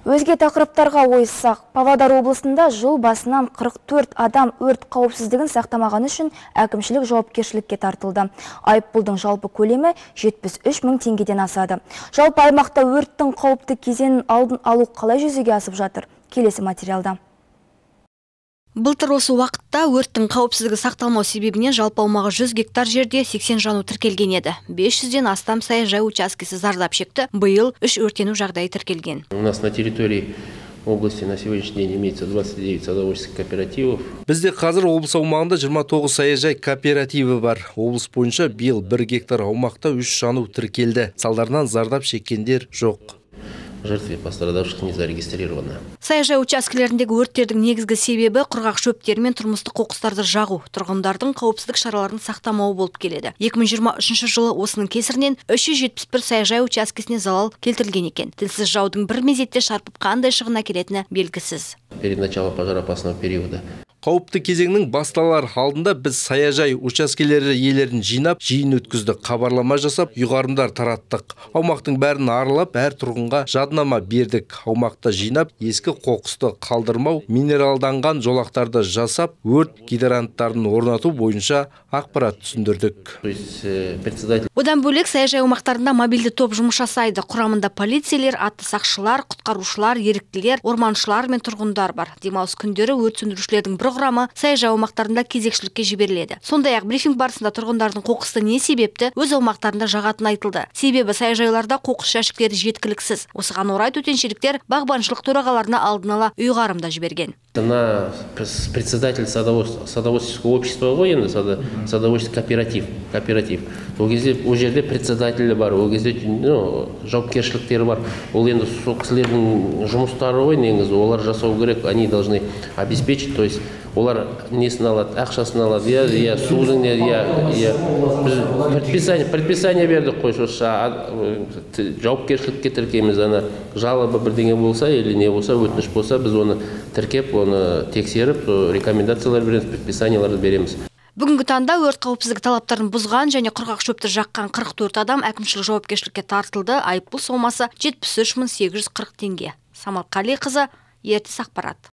Өзге тақырыптарға ойыссақ, Павлодар облысында жыл басынан 44 адам өрт қауіпсіздігін сақтамаған үшін әкімшілік жауапкершілікке тартылды. Айыппұлдың жалпы көлемі 73 мың теңгеден асады. Жалпы аймақта өрттің қауіпті кезеңін алдын алу қалай жүзеге асып жатыр? Келесі материалда. Былтыр осы уақытта өрттің қауіпсіздігі сақталмау себебінен жалпы аумағы 100 гектар жерде 80 жану тіркелген еді. 500-ден астам саяжай учаскесі зардап шекті. Биыл 3 өртену жағдайы тіркелген. У нас на территории области на сегодняшний день имеется 29 садоводческих кооперативов. Бізде қазір облыс аумағында 29 саяжай кооперативі бар. Облыс бойынша биыл 1 гектар аумақта 3 жану тіркелді. Салдарынан зардап шеккендер жоқ. Жертве пострадавших не зарегистрировано. Саяжай учаскелеріндегі өрттердің негізгі себебі құрғақ шөптер мен тұрмыстық қоқыстарды жағу, тұрғындардың қауіпсіздік шараларын сақтамауы болып келеді. 2023 жылы осының кесірінен 371 саяжай учаскесіне залал келтірілген екен. Тілсіз жаудың бір мезетте шарпып қандай шығын әкелетіні белгісіз. Перед началом пожароопасного периода. Қауіпті кезеңнің басталар алдында біз саяжай учаскелері иелерін жинап, жиын өткізді, хабарлама жасап, ұйғарымдар тараттық. Аумақтың бәрін аралап, әр тұрғынға жаднама бердік. Аумақта жинап, ескі қоқысты қалдырмау, минералданған жолақтарды жасап, өрт гидранттарын орнату бойынша ақпарат түсіндірдік. Одан бөлек саяжай аумақтарында мобильді топ жұмыс жасайды. Құрамында полицейлер, атты сақшылар, құтқарушылар, еріктілер, орманшылар мен тұрғындар бар. Демалыс күндері өрт сөндірушілердің бір құрамы саяжай аумақтарында кезекшілікке жіберіледі. Сондай-ақ брифинг барысында тұрғындардың қоқысты не себепті өз аумақтарында жағатын айтылды. Себебі саяжайларда қоқыс жәшіктері жеткіліксіз. Осыған орай төтеншеліктер бағбаншылық төрағаларына алдын ала ұйғарымда жіберген. На председатель садоводческого общества военный садоводческий кооператив. Ол кезде ол жерде председателі бар, ол кезде жауапкершіліктері бар. Ол енді сол кісілердің жұмыстары ғой негізі, олар жасау керек, они должны обеспечить, то есть олар несін алады, ақшасын алады, я судың, предписание бердік қой, жауапкершілікке тіркейміз, ана жалоба бірдеңе болса, или не болса, өтініш болса, біз оны тіркеп, оны тексеріп, рекомендациялар береміз, предписанияларды береміз. Бүгінгі таңда өрт қауіпсіздігі талаптарын бұзған және құрғақ шөпті жаққан 44 адам әкімшілік жауапкершілікке тартылды. Айыппұл сомасы 73 840 теңге. Самал Қалиқызы, ертіс ақпарат.